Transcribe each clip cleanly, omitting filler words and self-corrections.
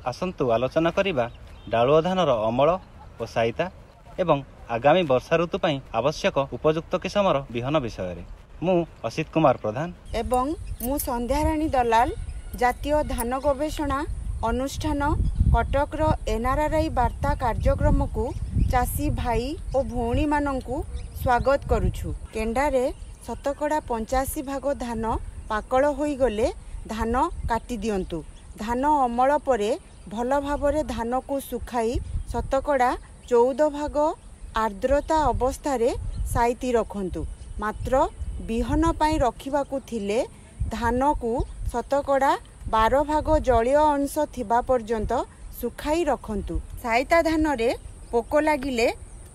ଆସନ୍ତୁ ଆଲୋଚନା କରିବା ଡାଳୁଅ ଧାନର ଅମଳ ଓ ସାଇତା ଏବଂ ଆଗାମୀ ବର୍ଷା ଋତୁ ପାଇଁ ଆବଶ୍ୟକ ଉପଯୁକ୍ତ କିସମର ବିହନ ବିଷୟରେ। ମୁଁ ଅସିତ କୁମାର ପ୍ରଧାନ ଏବଂ ମୁଁ ସନ୍ଧ୍ୟାରାଣୀ ଦଲାଲ, ଜାତୀୟ ଧାନ ଗବେଷଣା ଅନୁଷ୍ଠାନ କଟକର ଏନ୍ଆର୍ଆର୍ଆଇ ବାର୍ତ୍ତା କାର୍ଯ୍ୟକ୍ରମକୁ ଚାଷୀ ଭାଇ ଓ ଭଉଣୀମାନଙ୍କୁ ସ୍ୱାଗତ କରୁଛୁ। କେଣ୍ଡାରେ 85% ଭାଗ ଧାନ ପାକଳ ହୋଇଗଲେ ଧାନ କାଟି ଦିଅନ୍ତୁ। ଧାନ ଅମଳ ପରେ ଭଲ ଭାବରେ ଧାନକୁ ଶୁଖାଇ 14% ଭାଗ ଆର୍ଦ୍ରତା ଅବସ୍ଥାରେ ସାଇତି ରଖନ୍ତୁ। ମାତ୍ର ବିହନ ପାଇଁ ରଖିବାକୁ ଥିଲେ ଧାନକୁ 12% ଭାଗ ଜଳୀୟ ଅଂଶ ଥିବା ପର୍ଯ୍ୟନ୍ତ ଶୁଖାଇ ରଖନ୍ତୁ। ସାଇତା ଧାନରେ ପୋକ ଲାଗିଲେ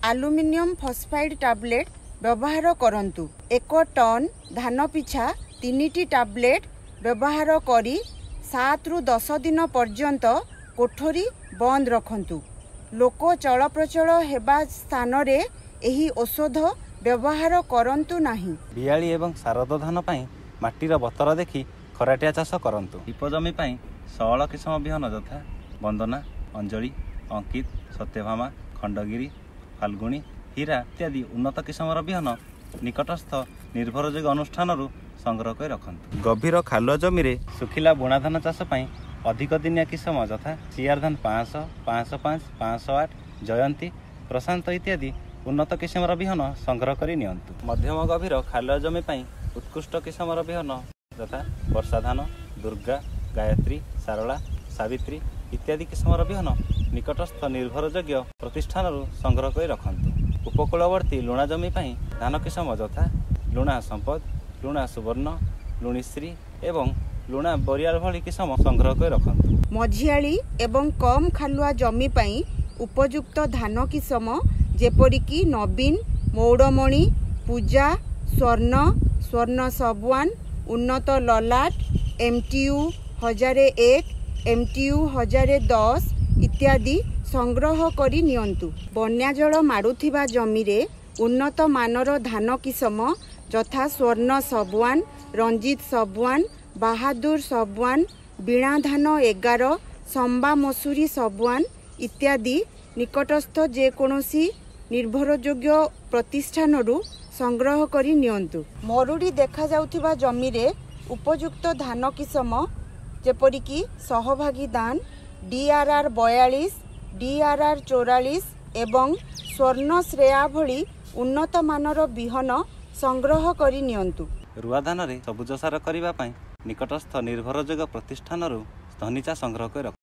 ଆଲୁମିନିୟମ ଫସଫାଇଡ୍ ଟାବଲେଟ୍ ବ୍ୟବହାର କରନ୍ତୁ। 1 ଟନ୍ ଧାନ ପିଛା 3ଟି ଟାବଲେଟ୍ ବ୍ୟବହାର କରି 7ରୁ 10 ଦିନ ପର୍ଯ୍ୟନ୍ତ କୋଠରୀ ବନ୍ଦ ରଖନ୍ତୁ। ଲୋକ ଚଳପ୍ରଚଳ ହେବା ସ୍ଥାନରେ ଏହି ଔଷଧ ବ୍ୟବହାର କରନ୍ତୁ ନାହିଁ। ବିଆଳି ଏବଂ ଶାରଦ ଧାନ ପାଇଁ ମାଟିର ବତର ଦେଖି ଖରାଟିଆ ଚାଷ କରନ୍ତୁ। ଢିପ ଜମି ପାଇଁ ସଅଳ କିସମ ବିହନ ଯଥା ବନ୍ଦନା, ଅଞ୍ଜଳି, ଅଙ୍କିତ, ସତ୍ୟଭାମା, ଖଣ୍ଡଗିରି, ଫାଲ୍ଗୁଣୀ, ହୀରା ଇତ୍ୟାଦି ଉନ୍ନତ କିସମର ବିହନ ନିକଟସ୍ଥ ନିର୍ଭରଯୋଗ୍ୟ ଅନୁଷ୍ଠାନରୁ ସଂଗ୍ରହ କରି ରଖନ୍ତୁ। ଗଭୀର ଖାଲୁଆ ଜମିରେ ଶୁଖିଲା ବୁଣା ଧାନ ଚାଷ ପାଇଁ ଅଧିକ ଦିନିଆ କିସମ ଯଥା ସିଆର୍ ଧାନ 500, 505, 508, ଜୟନ୍ତୀ, ପ୍ରଶାନ୍ତ ଇତ୍ୟାଦି ଉନ୍ନତ କିସମର ବିହନ ସଂଗ୍ରହ କରି ନିଅନ୍ତୁ। ମଧ୍ୟମ ଗଭୀର ଖାଲୁଆ ଜମି ପାଇଁ ଉତ୍କୃଷ୍ଟ କିସମର ବିହନ ଯଥା ବର୍ଷା ଧାନ, ଦୁର୍ଗା, ଗାୟତ୍ରୀ, ସାରଳା, ସାବିତ୍ରୀ ଇତ୍ୟାଦି କିସମର ବିହନ ନିକଟସ୍ଥ ନିର୍ଭରଯୋଗ୍ୟ ପ୍ରତିଷ୍ଠାନରୁ ସଂଗ୍ରହ କରି ରଖନ୍ତୁ। ଉପକୂଳବର୍ତ୍ତୀ ଲୁଣା ଜମି ପାଇଁ ଧାନ କିସମ ଯଥା ଲୁଣା ସମ୍ପଦ, ଲୁଣା ସୁବର୍ଣ୍ଣ, ଲୁଣିଶ୍ରୀ ଏବଂ ଲୁଣା ବରିଆଳ ଭଳି କିସମ ସଂଗ୍ରହ କରି ରଖନ୍ତୁ। ମଝିଆଳି ଏବଂ କମ୍ ଖାଲୁଆ ଜମି ପାଇଁ ଉପଯୁକ୍ତ ଧାନ କିସମ ଯେପରିକି ନବୀନ, ମଉଡ଼ମଣି, ପୂଜା, ସ୍ୱର୍ଣ୍ଣ, ସ୍ୱର୍ଣ୍ଣ ସବୱାନ, ଉନ୍ନତ ଲଲାଟ, MTU 1001, MTU 1010 ଇତ୍ୟାଦି ସଂଗ୍ରହ କରି ନିଅନ୍ତୁ। ବନ୍ୟାଜଳ ମାଡ଼ୁଥିବା ଜମିରେ ଉନ୍ନତ ମାନର ଧାନ କିସମ ଯଥା ସ୍ୱର୍ଣ୍ଣ ସବୱାନ, ରଞ୍ଜିତ ସବୱାନ, ବାହାଦୁର ସବୱାନ, ବୀଣା ଧାନ 11, ସମ୍ବା ମସୁରୀ ସବୱାନ ଇତ୍ୟାଦି ନିକଟସ୍ଥ ଯେକୌଣସି ନିର୍ଭରଯୋଗ୍ୟ ପ୍ରତିଷ୍ଠାନରୁ ସଂଗ୍ରହ କରି ନିଅନ୍ତୁ। ମରୁଡ଼ି ଦେଖାଯାଉଥିବା ଜମିରେ ଉପଯୁକ୍ତ ଧାନ କିସମ ଯେପରିକି ସହଭାଗୀ ଦାନ, DRR 42, DRR 44 ଏବଂ ସ୍ୱର୍ଣ୍ଣ ଶ୍ରେୟା ଭଳି ଉନ୍ନତ ମାନର ବିହନ ସଂଗ୍ରହ କରି ନିଅନ୍ତୁ। ରୁଆ ଧାନରେ ସବୁଜ ସାର କରିବା ପାଇଁ ନିକଟସ୍ଥ ନିର୍ଭରଯୋଗ୍ୟ ପ୍ରତିଷ୍ଠାନରୁ ଧନିଚା ସଂଗ୍ରହ କରି ରଖନ୍ତୁ।